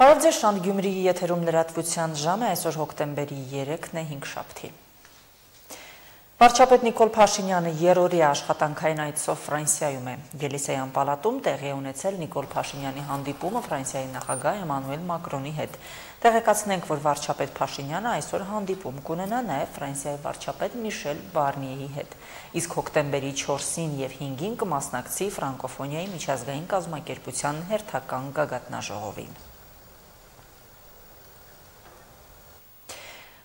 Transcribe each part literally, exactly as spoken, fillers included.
Բարև ձեզ, Շանթ Գյումրիի եթերում լրատվության ժամը, այսօր հոկտեմբերի երեքն է, հինգշաբթի։ Վարչապետ Նիկոլ Փաշինյանը երրորդյա աշխատանքային այցով Ֆրանսիայում է։ Ելիսեյան պալատում տեղի է ունեցել Նիկոլ Փաշինյանի հանդիպումը Ֆրանսիայի նախագահ Էմանուել Մակրոնի հետ։ Տեղեկացնենք, որ վարչապետ Փաշինյանը այսօր հանդիպում կունենա նաև Ֆրանսիայի վարչապետ Միշել Բարնիեի հետ։ Իսկ հոկտեմբերի չորսին և հինգին կմասնակցի ֆրանկոֆոնիայի միջազգային կազմակերպության հերթական գագաթնաժողովին։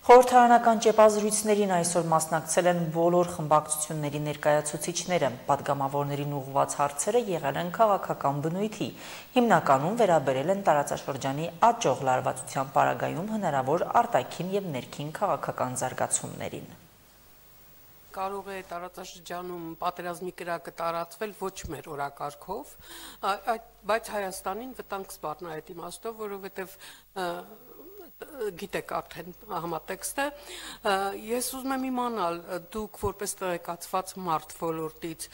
Խորհրդարանական ճեպազրույցներին այսօր մասնակցել են բոլոր խմբակցությունների ներկայացուցիչները, պատգամավորներին ուղղված հարցերը եղել են քաղաքական բնույթի, հիմնականում վերաբերել են տարածաշրջանի աճող լարվածության պարագայում հնարավոր արտաքին և ներքին քաղաքական զարգացումներին։ Կարող է տարածաշրջանում պատերազմի կրակը տարածվել ոչ մեր օրակարգով, բայց Հայաստանին վտանգ սպառնա այդ իմաստով, որովհետև գիտեք արդեն համատեքստը, ես ուզում եմ իմանալ, դուք որպես տեղեկացված մարդ ոլորտից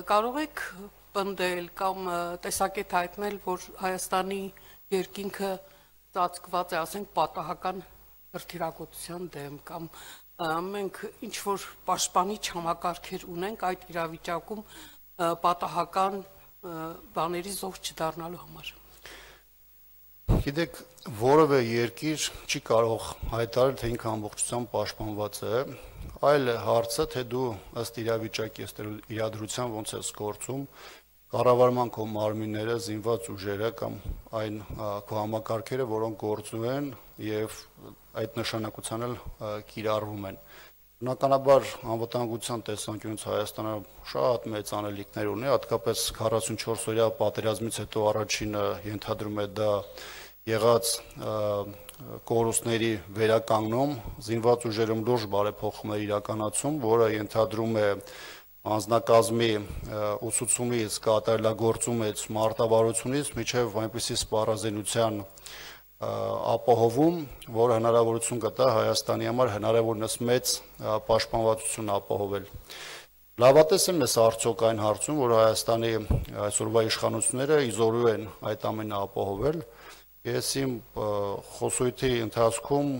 կարող եք պնդել կամ տեսակետ հայտնել, որ Հայաստանի երկինքը ծածկված է, ասենք, պատահական հրթիռակոծության դեմ կամ մենք ինչ-որ պաշտպանիչ համակարգեր ունենք այդ իրավիճակում պատահական բաների զոհ չդառնալու համար։ Գիտեք, որևէ երկիր չի կարող հայտարարել, թե ինքը ամբողջությամբ պաշտպանված է, այլ հարցը, թե դու ըստ իրավիճակի, ըստ իրադրության ոնց ես գործում, կառավարման քո մարմինները, զինված ուժերը կամ այն քո համակարգերը, որոնք գործում են եւ այդ նշանակության էլ կիրառվում են։ Բնականաբար անվտանգության տեսանկյունից Հայաստանը շատ մեծ անելիքներ ունի, հատկապես քառասունչորս օրյա պատերազմից հետո առաջինը ենթադրում է դա եղած կորուստների վերականգնում, զինված ուժերում լուրջ բարեփոխումներ իրականացում, որը ենթադրում է անձնակազմի ուսուցումից, կատարելագործումից, մարտավարությունից մինչև այնպիսի սպառազինության ապահովում, որ հնարավորություն կտա Հայաստանի համար հնարավորինս մեծ պաշտպանվածություն ապահովել։ Լավատես եմ ես արդյոք այն հարցում, որ Հայաստանի այսօրվա իշխանությունները իզորու են այդ ամենը ապահովել։ Ես իմ խոսույթի ընթացքում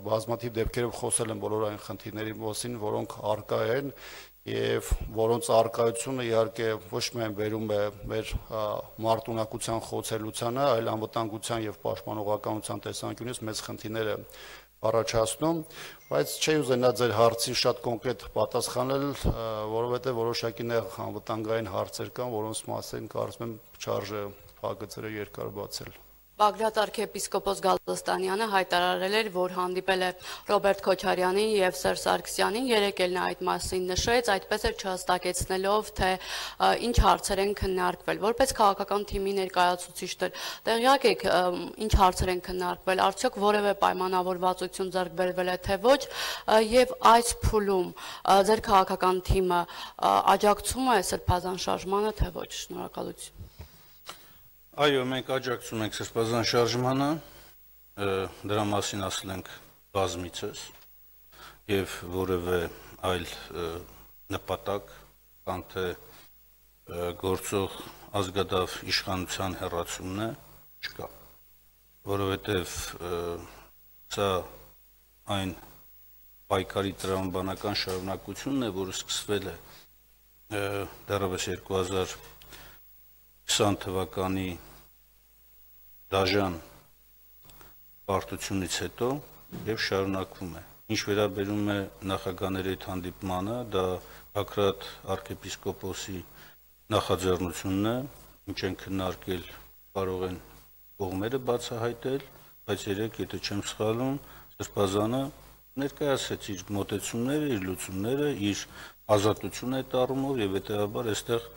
բազմաթիվ դեպքերով խոսել եմ բոլոր այն խնդիրների մասին, որոնք առկա են եւ որոնց առկայությունը իհարկե ոչ միայն բերում է մեր մարտունակության խոցելությանը, այլ անվտանգության եւ պաշտպանողականության տեսանկյունից մեծ խնդիրներ է առաջացնում, բայց չի ուզենա ձեր հարցին շատ կոնկրետ պատասխանել, որովհետեւ որոշակի նեղ անվտանգային հարցեր կան, որոնց մասին կարծում եմ չարժե փակագծերը երկար բացել։ Բագրատ arczepiskopos Գալստանյանը հայտարարել էր, որ հանդիպել է Ռոբերտ Քոչարյանին եւ Սերժ Սարգսյանին, երեկ էլ նա այդ մասին նշեց, այդպես էլ չհստակեցնելով, թե ինչ հարցեր են քննարկվել։ Որպես քաղաքական թիմի ներկայացուցիչներ, տեղյակ եք ինչ հարցեր են քննարկվել, արդյոք որևէ պայմանավորվածություն ձեռք բերվել է թե ոչ, եւ այս փուլում ձեր քաղաքական թիմը աջակցում է սրբազան շարժմանը, թե ոչ։ Շնորհակալություն։ Այո, մենք աջակցում ենք սրբազան շարժմանը, դրա մասին ասել ենք բազմիցս եւ որևէ այլ նպատակ կամ թե գործող ազգադավ իշխանության հեռացումն է չկա, որովհետեւ սա այն պայքարի տրամաբանական շարունակությունն է, որը սկսվել է դեռևս երկու հազար քսան թվականի դաժան պարտությունից հետո եւ շարունակվում է։ Ինչ վերաբերում է նախագահների հետ հանդիպմանը, դա Բագրատ arczepiskopos-ի նախաձեռնությունն է, ինչ են քննարկել, կարող են կողմերը բացահայտել, բայց երեք, եթե չեմ սխալվում, Սրբազանը ներկայացրեց իր մոտեցումները, իր լուծումները, իր ազատությունը այդ առումով եւ հետեւաբար այստեղ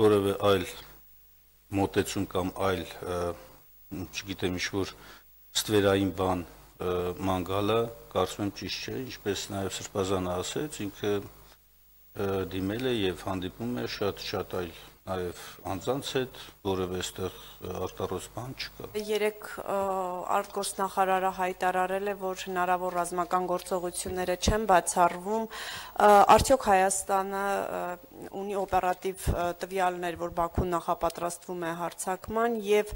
որևէ այլ մոտեցում կամ այլ, չգիտեմ, ինչ-որ ստվերային բան ման գալը, կարծում եմ ճիշտ չէ, ինչպես նաև Սրբազանը ասեց, ինքը դիմել է եւ հանդիպում է շատ-շատ այլ նաև անձանց հետ որևէ այստեղ արտարոց բան չկա։ Երեք արտգործնախարարը հայտարարել է, որ հնարավոր ռազմական գործողությունները չեն բացառվում, արդյոք Հայաստանը ունի օպերատիվ տվյալներ, որ Բաքուն նախապատրաստվում է հարձակման եւ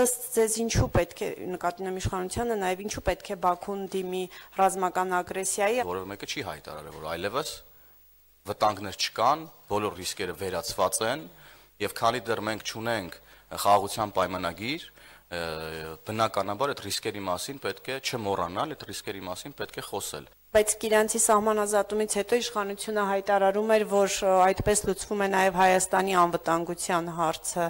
ըստ ձեզ ինչու պետք է նկատի ունեմ իշխանությանը, նաեւ ինչու պետք է Բաքուն դիմի ռազմական ագրեսիայի, որովհետեւ մեկը չի հայտարարել, որ այլևս վտանգներ չկան, բոլոր ռիսկերը վերացված են եւ քանի դեռ մենք չունենք խաղաղության պայմանագիր, բնականաբար այդ ռիսկերի մասին պետք է չմոռանալ, այդ ռիսկերի մասին պետք է խոսել։ Բայց Կիրանցի սահմանազատումից հետո իշխանությունը հայտարարում էր, որ այդպես լուծվում է նաև Հայաստանի անվտանգության հարցը։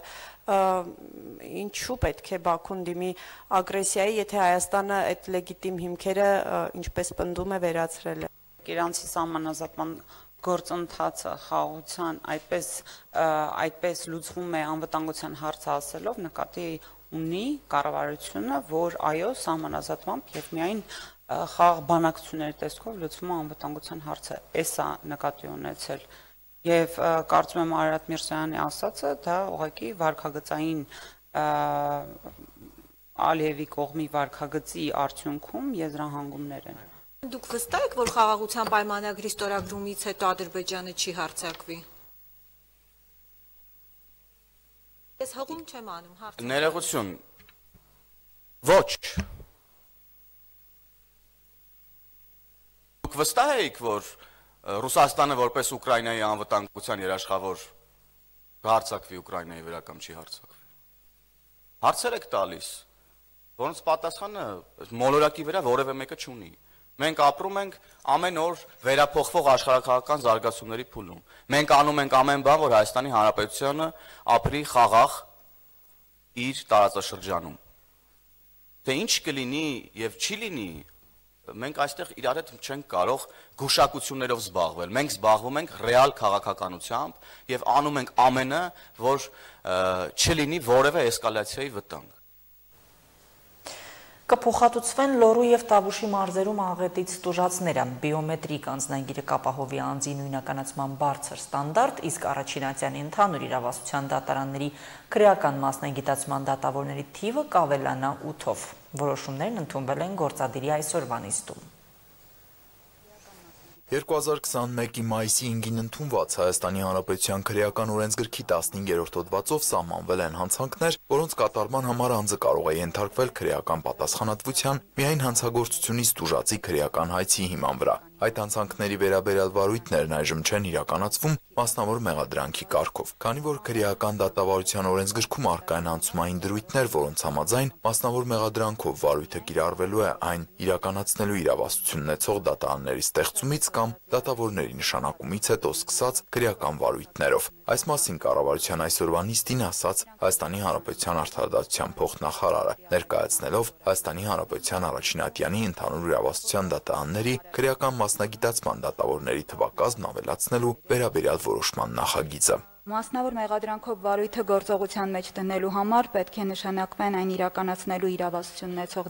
Ինչու պետք է Բաքուն դիմի ագրեսիայի, եթե Հայաստանը այդ լեգիտիմ հիմքերը, ինչպես պնդում է, վերացրել է։ Կիրանցի սահմանազատման գործընթացը խաղաղության այդպես այդպես լուծվում է անվտանգության հարցը ասելով նկատի ունի կառավարությունը, որ այո, սահմանազատմամբ եւ միայն խաղաղ բանակցությունների տեսքով լուծվում է անվտանգության հարցը։ Էսա նկատի ունեցել եւ կարծում եմ Արարատ Միրզոյանի ասածը դա ուղղակի վարկագծային Ալիևի կողմի վարկագծի արդյունքում եզրահանգումներ են։ Դուք վստահ եք, որ խաղաղության պայմանագրի ստորագրումից հետո Ադրբեջանը չի հարձակվի։ Ես հղում չեմ անում, հարց։ Ներողություն։ Ոչ։ Դուք վստահ եք, որ Ռուսաստանը որպես Ուկրաինայի անվտանգության երաշխավոր կհարձակվի Ուկրաինայի վրա կամ չի հարձակվի։ Հարցեր եք տալիս, որոնց պատասխանը մոլորակի վրա որևէ մեկը չունի։ Մենք ապրում ենք ամեն օր վերափոխվող աշխարհակաղակական զարգացումների փուլում։ Մենք անում ենք ամեն բան, որ Հայաստանի Հանրապետությունը ապրի խաղաղ իր տարածաշրջանում։ Թե ինչ կլինի եւ չի լինի, մենք այստեղ իրար հետ չենք կարող գուշակություններով զբաղվել։ Մենք զբաղվում ենք ռեալ քաղաքականությամբ եւ անում ենք ամենը, որ չլինի որևէ էսկալացիայի վտանգ։ Կփոխհատուցվեն Լոռու եւ Տավուշի մարզերում աղետից տուժածները, բիոմետրիկ անձնագիրը կապահովի անձի նույնականացման բարձր ստանդարտ, իսկ առաջին ատյանի ընդհանուր իրավասության դատարանների քրեական մասնագիտացման դատավորների թիվը կավելանա ութով։ Որոշումներն ընդունվել են գործադիրի այսօրվա նիստում։ երկու հազար քսաներկի մայիսի հինգին ընդունված Հայաստանի Հանրապետության քրեական օրենսգրքի տասնհինգերորդ հոդվածով սահմանվել են հանցանքներ, որոնց կատարման համար անձը կարող է ենթարկվել քրեական պատասխանատվության միայն հանցագործությունից տուժածի քրեական հայցի հիման վրա։ Այդ հանցանքների վերաբերյալ վարույթներն այժմ չեն իրականացվում մասնավոր մեղադրանքի կարգով, քանի որ քրեական դատավարության օրենսգրքում առկա են անցումային դրույթներ, որոնց համաձայն մասնավոր մեղադրանքով վարույթը կիրառվելու է այն իրականացնելու իրավասություն ունեցող դատարանների ստեղծումից կամ դատավորների նշանակումից հետո սկսած քրեական վարույթներով։ Այս մասին կառավարության այսօրվա նիստին ասաց Հայաստանի Հանրապետության արդարադատության փոխնախարարը, ներկայացնելով Հայաստանի Հանրապետության առաջին ատյանի ընդհանուր իրավասության դատարանների քրեական մասնագիտացման դատավորների թվակազմն ավելացնելու վերաբերյալ որոշման նախագիծը։ Մասնավոր մեղադրանքով վարույթը գործողության մեջ դնելու համար պետք է նշանակվեն այն իրականացնելու իրավասություն ունեցող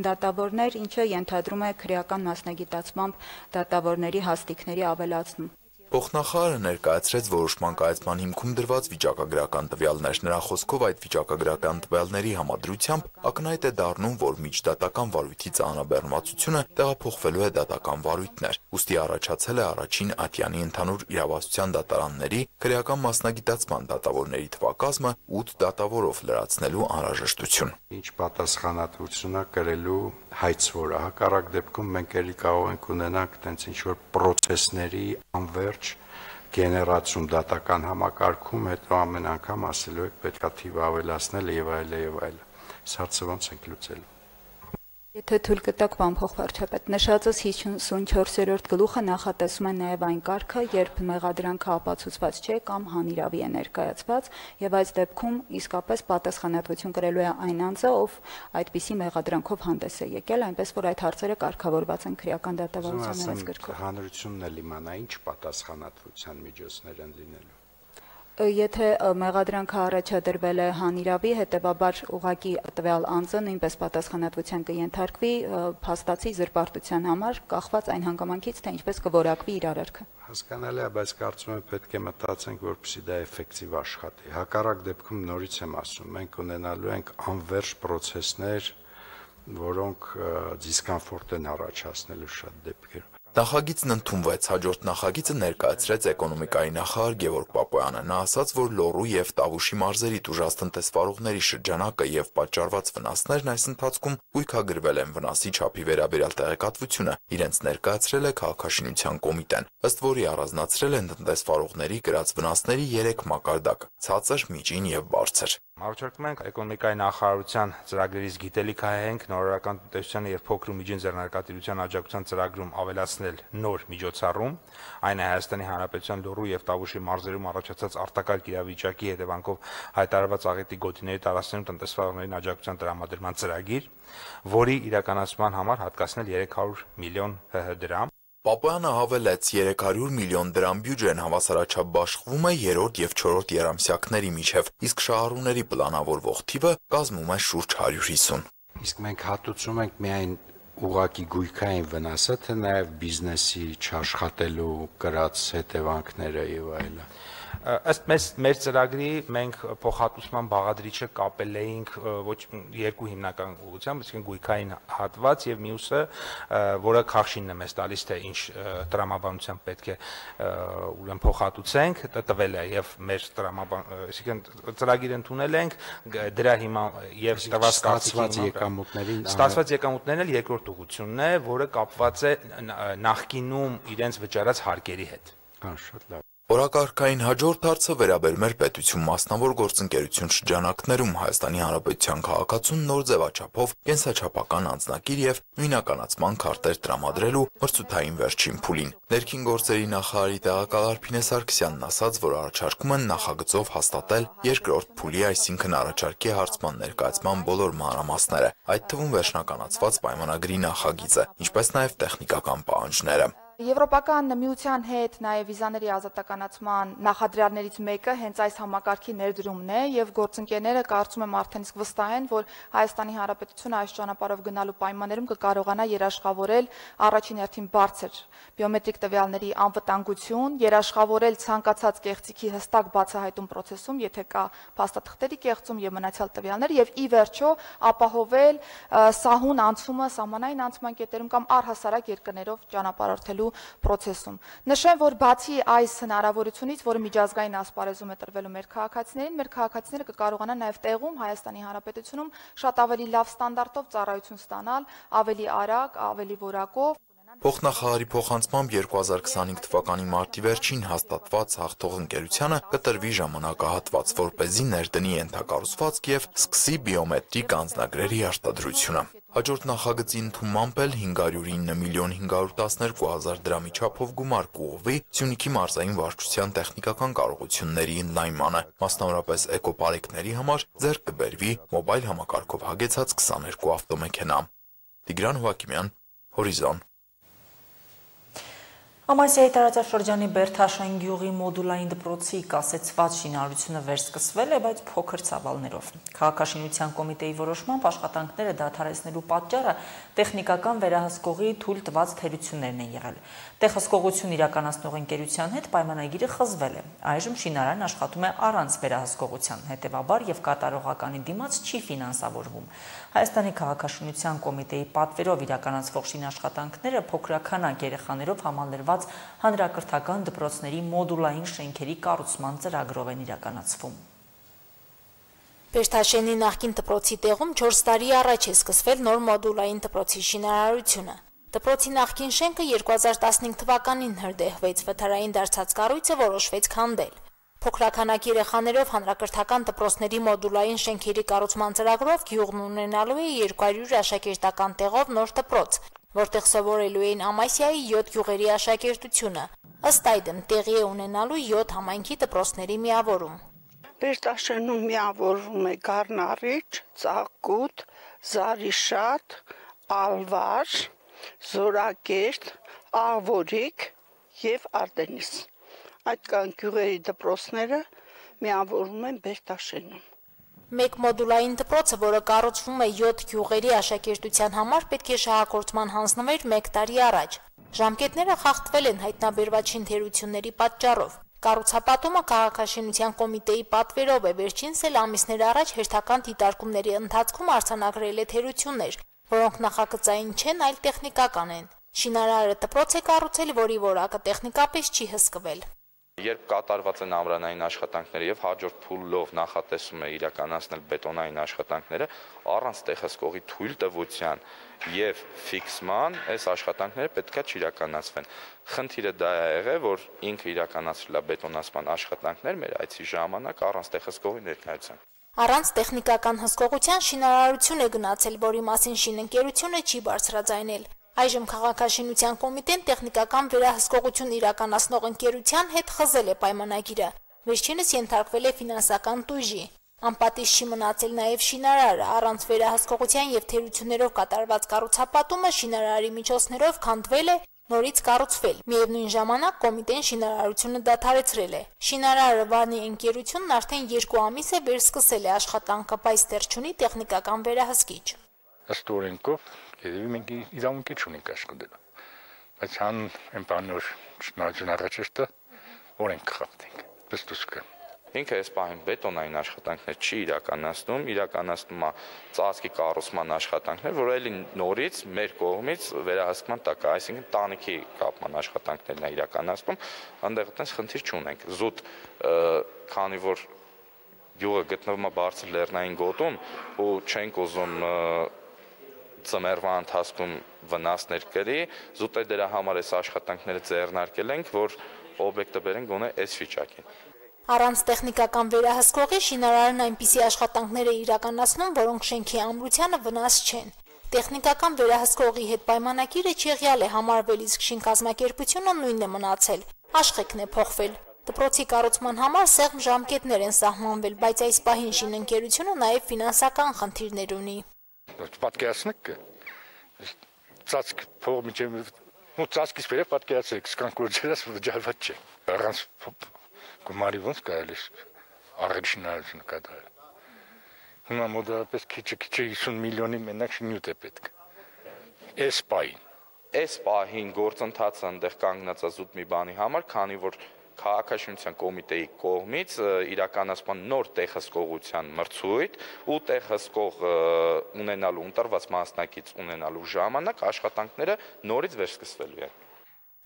դատավորներ, ինչը ենթադրում է քրեական մասնագիտացմամբ դատավորների հաստիքների ավելացում։ Փոխնախարարը ներկայացրեց որոշման կայացման հիմքում դրված վիճակագրական տվյալներ։ Նրա խոսքով այդ վիճակագրական տվյալների համադրությամբ ակնհայտ է դառնում, որ միջդատական վարույթի ծանրաբեռնվածությունը տեղափոխվելու է դատական վարույթներ։ Ուստի առաջացել է առաջին ատյանի ընդհանուր իրավասության դատարանների քրեական մասնագիտացման դատավորների թվակազմը ութ դատավորով լրացնելու անհրաժեշտություն։ Ինչ պատասխանատվությունը կրելու հայց որը հակառակ դեպքում մենք էլի կարող ենք ունենանք տենց ինչ որ պրոցեսների անվերջ գեներացում դատական համակարգում, հետո ամեն անգամ ասելու եք պետքա թիվը ավելացնել եւ այլ եւ այլ։ Սարսը ոնց ենք լուծելու։ Եթե թույլ կտաք, պարոն փոխվարչապետ, նշածս հիսունչորսերորդ գլուխը նախատեսում է նաև այն կարգը, երբ մեղադրանքը ապացուցված չէ կամ հանիրավի է ներկայացված, եւ այս դեպքում իսկապես պատասխանատվություն կրելու է այն անձը, ով այդպիսի մեղադրանքով հանդես է եկել, այնպես որ այդ հարցերը կարգավորված են քրեական դատավարության օրենսգրքով։ Հանրությունն էլ իմանա ինչ պատասխանատվության միջոցներ են լինելու։ Եթե մեղադրանքը առաջադրվել է հանիրավի, հետևաբար ուղղակի տվյալ անձը նույնպես պատասխանատվության կենթարկվի փաստացի զրպարտության համար, կախված այն հանգամանքից, թե ինչպես կորակվի իր արարքը։ Հասկանալի է, բայց կարծում եմ պետք է մտածենք, որպեսզի դա էֆեկտիվ աշխատի։ Հակառակ դեպքում նորից եմ ասում, մենք ունենալու ենք անվերջ պրոցեսներ, որոնք դիսկոմֆորտ են առաջացնելու շատ դեպքերում։ Նախագիծն ընդունվեց, հաջորդ նախագիծը ներկայացրեց էկոնոմիկայի նախարար Գևորգ Պապոյանը։ Նա ասաց, որ Լոռու եւ Տավուշի մարզերի տուժածտնտեսվարողների շրջանակը եւ պատճառված վնասներն այս ընթացքում հույքագրվել են վնասի չափի վերաբերյալ տեղեկատվությունը, իրենց ներկայացրել է քաղաքաշինության կոմիտեն, ըստ որի առանձնացրել են տնտեսվարողների կրած վնասների երեք մակարդակ՝ ցածր, միջին եւ բարձր։ Առաջարկում ենք էկոնոմիկայի նախարարության ծրագրերից գիտելիք հայենք նորարարական տնտեսության եւ փոքր ու միջին ձեռնարկատիրության աջակցության ծրագրում ավելացնել նոր միջոցառում, այն է Հայաստանի Հանրապետության Լոռու եւ Տավուշի մարզերում առաջացած արտակարգ իրավիճակի հետևանքով հայտարարված աղետի գոտիների տարածքներում տնտեսվարողներին աջակցության տրամադրման ծրագիր, որի իրականացման համար հատկացնել երեք հարյուր միլիոն ՀՀ դրամ։ Պապոյանը հավելեց, երեք հարյուր միլիոն դրամ բյուջեն հավասարաչափ բաշխվում է երրորդ եւ չորրորդ երամսյակների միջև, իսկ շահառուների պլանավորվող թիվը կազմում է շուրջ հարյուր հիսուն։ Իսկ մենք հատուցում ենք միայն ուղղակի գույքային վնասը, թե նաև բիզնեսի չաշխատելու կրած հետևանքները եւ այլն։ Ըստ մեզ մեր ծրագրի մենք փոխհատուցման բաղադրիչը կապել էինք ոչ երկու հիմնական ուղղությամբ, այսինքն գույքային հատված եւ մյուսը, որը քարշինն է մեզ տալիս, թե ինչ տրամաբանությամբ պետք է ուրեմն փոխհատուցենք, տվել է եւ մեր տրամաբան, այսինքն ծրագիր ընդունել ենք, դրա հիմա եւ ստացված եկամուտներին ստացված եկամուտներն էլ երկրորդ ուղղությունն է, որը կապված է նախկինում իրենց վճարած հարկերի հետ։ Հա, շատ լավ։ Օրակարգային հաջորդ հարցը վերաբերում էր պետություն մասնավոր գործընկերություն շրջանակներում Հայաստանի Հանրապետության քաղաքացուն նոր ձևաչափով կենսաչափական անձնակիր եւ նույնականացման քարտեր տրամադրելու մրցութային վերջին փուլին։ Ներքին գործերի նախարարի տեղակալ Արփինե Սարգսյանն ասաց, որ առաջարկում են նախագծով հաստատել երկրորդ փուլի, այսինքն առաջարկի հարցման ներկայացման բոլոր մանրամասները, այդ թվում վերջնականացված պայմանագրի նախագիծը, ինչպես նաեւ տեխնիկական պահանջները։ Եվրոպական միության հետ նաև վիզաների ազատականացման նախադրյալներից մեկը հենց այս համակարգի ներդրումն է եւ գործընկերները կարծում եմ արդեն իսկ վստահ են, որ Հայաստանի Հանրապետությունը այս ճանապարհով գնալու պայմաններում կկարողանա երաշխավորել առաջին հերթին բարձր բիոմետրիկ տվյալների անվտանգություն, երաշխավորել ցանկացած կեղծիքի հստակ բացահայտում process-ում, եթե կա փաստաթղթերի կեղծում եւ մնացյալ տվյալներ եւ ի վերջո ապահովել սահուն անցումը սահմանային անցման կետերում կամ առհասարակ երկրներով ճանապարհորդելու process-ում։ Նշեմ, որ բացի այս հնարավորությունից, որը միջազգային ասպարեզում է տրվելու մեր քաղաքացիներին, մեր քաղաքացիները կկարողանան նաև տեղում Հայաստանի Հանրապետությունում շատ ավելի լավ ստանդարտով ծառայություն ստանալ, ավելի արագ, ավելի որակով։ Փոխնախարարի փոխանցմամբ երկու հազար քսանհինգ թվականի մարտի վերջին հաստատված հաղթող ընկերությանը կտրվի ժամանակահատված, որպեսզի ներդնի ենթակառուցվածք եւ սկսի բիոմետրիկ անձնագրերի արտադրությունը։ Հաջորդ նախագծի ընդունմամբ էլ հինգ հարյուր ինը միլիոն հինգ հարյուր տասներկու հազար դրամի չափով գումար կուղղվի Սյունիքի մարզային վարչության տեխնիկական կարողությունների ընդլայնմանը, մասնավորապես էկոպարեկների համար ձեռք կբերվի մոբայլ համակարգով հագեցած քսաներկու ավտոմեքենա։ Տիգրան Հովակիմյան, Հորիզոն։ Ամասիայի տարածաշրջանի Բերթաշեն գյուղի մոդուլային դպրոցի կասեցված շինարարությունը վերսկսվել է, բայց փոքր ծավալներով։ Քաղաքաշինության կոմիտեի որոշմամբ աշխատանքները դադարեցնելու պատճառը տեխնիկական վերահսկողի թույլ տված թերություններն են եղել։ Տեղհսկողություն իրականացնող ընկերության հետ պայմանագիրը խզվել է։ Այժմ շինարարն աշխատում է առանց վերահսկողության, հետևաբար եւ կատարողականի դիմաց չի ֆինանսավորվում։ Հայաստանի քաղաքաշինության կոմիտեի պատվերով իրականացվող շինաշխատանքները փոքրականակ երեխաներով համալրված հանրակրթական դպրոցների մոդուլային շենքերի կառուցման ծրագրով են իրականացվում։ Բերթաշենի նախկին դպրոցի տեղում չորս տարի առաջ է սկսվել նոր մոդուլային դպրոցի շինարարությունը։ Դպրոցի նախկին շենքը երկու հազար տասնհինգ թվականին հրդեհվեց, վթարային դարձած կառույցը որոշվեց քանդել։ Փոքրականակ երեխաներով հանրակրթական դպրոցների մոդուլային շենքերի կառուցման ծրագրով գյուղն ունենալու է երկու հարյուր աշակերտական տեղով նոր դպրոց, որտեղ սովորելու էին Ամասիայի յոթ գյուղերի աշակերտությունը։ Ըստ այդմ տեղի է ունենալու յոթ համայնքի դպրոցների միավորում։ Բերթաշենում միավորվում է Գառնարիչ, Ծաղկուտ, Զարիշատ, Ալվար, Զորակերտ, Աղվորիկ եւ Արտենիս։ Այդ կան գյուղերի դպրոցները, միավորվում են Բերտաշենում։ Մեկ մոդուլային դպրոցը, որը կառուցվում է յոթ գյուղերի աշակերտության համար, պետք է շահագործման հանձնվեր մեկ տարի առաջ։ Ժամկետները խախտվել են հայտնաբերված թերությունների պատճառով։ Կառուցապատումը քաղաքաշինության կոմիտեի պատվերով է, վերջինս էլ ամիսներ առաջ հերթական դիտարկումների ընթացքում արձանագրել է թերություններ, որոնք նախագծային չեն, այլ տեխնիկական են։ Շինարարը դպրոց է կառուցել, որի որակը տեխնիկապես չի հսկվել։ Երբ կատարված են ամրանային աշխատանքները եւ հաջորդ փուլով նախատեսում է իրականացնել բետոնային աշխատանքները, առանց տեղհսկողի թույլտվության եւ ֆիքսման այս աշխատանքները պետքա չիրականացվեն։ Խնդիրը դա է եղել, որ ինքը իրականացրել է բետոնացման աշխատանքներ մեր այցի ժամանակ առանց տեղհսկողի ներկայության։ Առանց տեխնիկական հսկողության շինարարություն է գնացել, որի մասին շինընկերությունը չի բարձրաձայնել։ Այժմ քաղաքաշինության կոմիտեն տեխնիկական վերահսկողություն իրականացնող ընկերության հետ խզել է պայմանագիրը։ Վերջինս ենթարկվել է ֆինանսական տույժի։ Անպատիժ չի մնացել նաև շինարարը, առանց վերահսկողության եւ թերություններով կատարված կառուցապատումը շինարարի միջոցներով քանդվել է, նորից կառուցվել։ Միևնույն ժամանակ կոմիտեն շինարարությունը դադարեցրել է։ Շինարարը Վանի ընկերությունն արդեն երկու ամիս է վերսկսել է աշխատանքը, բայց դեռ չունի տեխնիկական վերահսկիչ։ Ըստ օրենքով Եվ մենք իրավունք չունենք աշխատելու, բայց հան այն բանը որ շնորհակալ առաջեշտը օրենք խախտենք, պստուս կա։ Ինքը այս պահին բետոնային աշխատանքներ չի իրականացնում, իրականացնում է ծածկի կառուցման աշխատանքներ, որը էլի նորից մեր կողմից վերահսկման տակ է, այսինքն տանիքի կապման աշխատանքներն է իրականացնում, այնտեղ այդպես խնդիր չունենք։ Զուտ քանի որ յուղը գտնվում է բարձր լեռնային գոտում ու չենք ուզում ծմերվա ընթացքում վնասներ կրի, զուտ է դրա համար այս աշխատանքները ձեռնարկել ենք, որ օբյեկտը բերենք գոնե այս վիճակին։ Առանց տեխնիկական վերահսկողի շինարարն այնպիսի աշխատանքներ է իրականացնում, որոնք շենքի ամրությանը վնաս չեն։ Տեխնիկական վերահսկողի հետ պայմանագիրը չեղյալ է համարվել, իսկ շինկազմակերպությունը նույնն է մնացել, աշխեքն է փոխվել։ Դպրոցի կառուցման համար սեղմ ժամկետներ են սահմանվել, բայց այս պահին շինընկերությունը նաև ֆինանսական խնդիրներ ունի։ Պատկերացնեք, ծածկ փող միջև, ու ծածկից վեր պատկերացրեք, սկանք որ ջրած վճարված չէ։ Առանց գումարի ոնց կարելի առել շինարարությունը կատարել։ Հիմա մոտավորապես քիչ-քիչ հիսուն միլիոնի մենակ շինյութ է պետք։ Այս պահին։ Այս պահին գործընթացը այնտեղ կանգնած է զուտ մի բանի համար, քանի որ քաղաքաշինության կոմիտեի կողմից իրականացման նոր տեղհսկողության մրցույթ ու տեղհսկող ունենալու ընտրված մասնակից ունենալու ժամանակ աշխատանքները նորից վերսկսվելու են։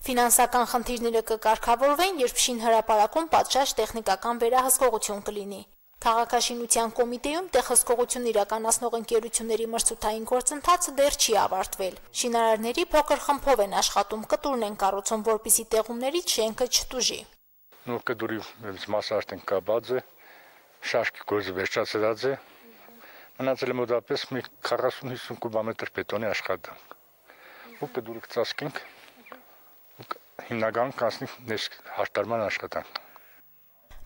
Ֆինանսական խնդիրները կկարգավորվեն, երբ շինհրապարակում պատշաճ տեխնիկական վերահսկողություն կլինի։ Քաղաքաշինության կոմիտեում տեղհսկողություն իրականացնող ընկերությունների մրցութային գործընթացը դեռ չի ավարտվել։ Շինարարների փոքր խմբով են աշխատում, կտուրն են կառուցում, որպեսզի տեղումներից շենքը չտուժի։ Նոր կդուրի մասը արդեն կապած է, շաշկի գործը վերջացրած է, մնացել է մոտավորապես մի քառասուն-հիսուն կուբամետր բետոնի աշխատանք։ Ու կդուրը կծածկենք, հիմնականում կանցնի հաշտարման աշխատանք։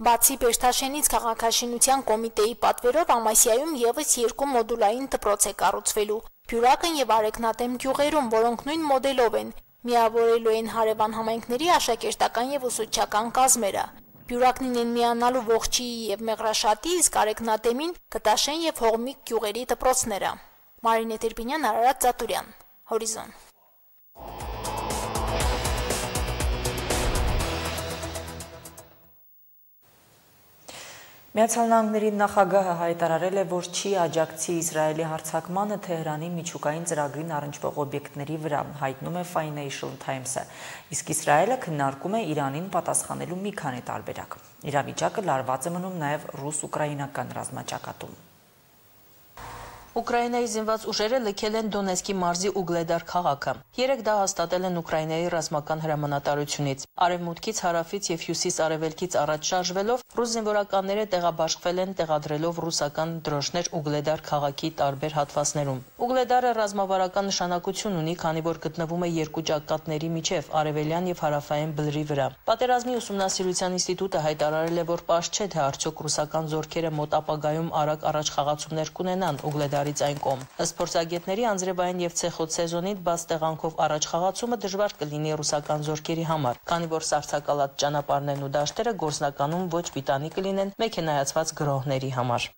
Բացի Բերտաշենից քաղաքաշինության կոմիտեի պատվերով Ամասիայում եւս երկու մոդուլային դպրոց է կառուցվելու։ Բյուրակն եւ Արեգնատեմ գյուղերում, որոնք նույն մոդելով են, միավորելու են հարևան համայնքների աշակերտական եւ ուսուցչական կազմերը։ Բյուրակնին են միանալու Ողջիի եւ Մեղրաշատի, իսկ Արեգնատեմին Կտաշեն եւ Հողմիկ գյուղերի դպրոցները։ Մարինե Տերբինյան, Արարատ Ծատուրյան, Հորիզոն։ Միացյալ Նահանգների նախագահը հայտարարել է, որ չի աջակցի Իսրայելի հարձակմանը Թեհրանի միջուկային ծրագրին առնչվող օբյեկտների վրա, հայտնում է Financial Times-ը, իսկ Իսրայելը քննարկում է Իրանին պատասխանելու մի քանի տարբերակ։ Իրավիճակը լարված է մնում նաև ռուս-ուկրաինական ռազմաճակատում։ Ուկրաինայի զինված ուժերը լքել են Դոնեցկի մարզի Ուգլեդար քաղաքը։ Երեք դա հաստատել են Ուկրաինայի ռազմական հրամանատարությունից։ Արևմուտքից, հարավից եւ հյուսիս-արևելքից առաջ շարժվելով ռուս զինվորականները տեղաբաշխվել են, տեղադրելով ռուսական դրոշներ Ուգլեդար քաղաքի տարբեր հատվածներում։ Ուգլեդարը ռազմավարական նշանակություն ունի, քանի որ գտնվում է երկու ճակատների միջև արևելյան եւ հարավային բլրի վրա։ Պատերազմի ուսումնասիրության ինստիտուտը հայտարարել է, որ պարզ չէ, թե արդյոք ռուսական զորքերը մոտ ապագայում արագ առաջխաղացումներ կունենան Ուգլեդարի աշխարհից այն կողմ։ Ըստ փորձագետների անձրևային եւ ցեխոտ սեզոնին բաց տեղանքով առաջ խաղացումը դժվար կլինի ռուսական զորքերի համար, քանի որ սառցակալած ճանապարհներն ու դաշտերը գործնականում ոչ պիտանի կլինեն մեքենայացված գրոհների համար։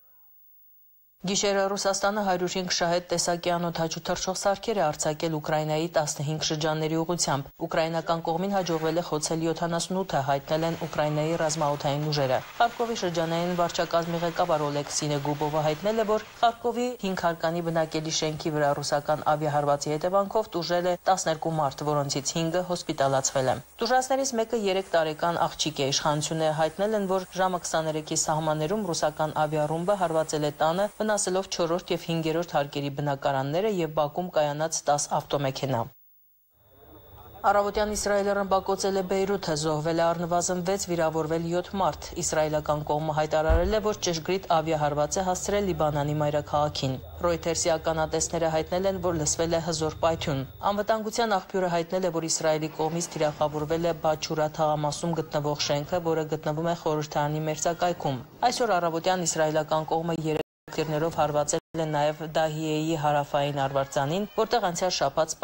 Գիշերը Ռուսաստանը հարյուր հինգ շահեդ տեսակի անօդաչու թռչող սարքեր է արձակել Ուկրաինայի տասնհինգ շրջանների ուղղությամբ։ Ուկրաինական կողմին հաջողվել է խոցել յոթանասունութը, հայտնել են Ուկրաինայի ռազմաօդային ուժերը։ Խարկովի շրջանային վարչակազմի ղեկավար Օլեքսի Նեգուբովը հայտնել է, որ Խարկովի հինգ հարկանի բնակելի շենքի վրա ռուսական ավիահարվածի հետևանքով տուժել է տասներկու մարդ, որոնցից հինգը հոսպիտալացվել է։ Տուժածներից մեկը երեք տարեկան աղջիկ է։ Իշխանությունները հայտնել են, որ ժամը քսաներեքի սահմաններում ռուսական ավիառումբը հարվածել է տանը, վնասելով չորրորդ եւ հինգերորդ հարկերի բնակարանները եւ Բաքում կայանած տաս ավտոմեքենա։ Առավոտյան Իսրայելը ռմբակոծել է Բեյրութը, զոհվել է առնվազն վեց, վիրավորվել յոթ մարդ։ Իսրայելական կողմը հայտարարել է, որ ճշգրիտ ավիահարված է հասցրել Լիբանանի մայրաքաղաքին։ Ռոյթերսի ականատեսները հայտնել են, որ լսվել է հզոր պայթյուն։ Անվտանգության աղբյուրը հայտնել է, որ Իսրայելի կողմից թիրախավորվել է Բաչուրա թաղամասում գտնվող շենքը, որը գտնվում է խորհրդարանի մերձակայքում։ Այսօր առավոտյան իսրայելական կողմը երեք tirներով հարվածել են նաև Դահիեի հարավային արվարձանին, որտեղ անցյալ շաբաթ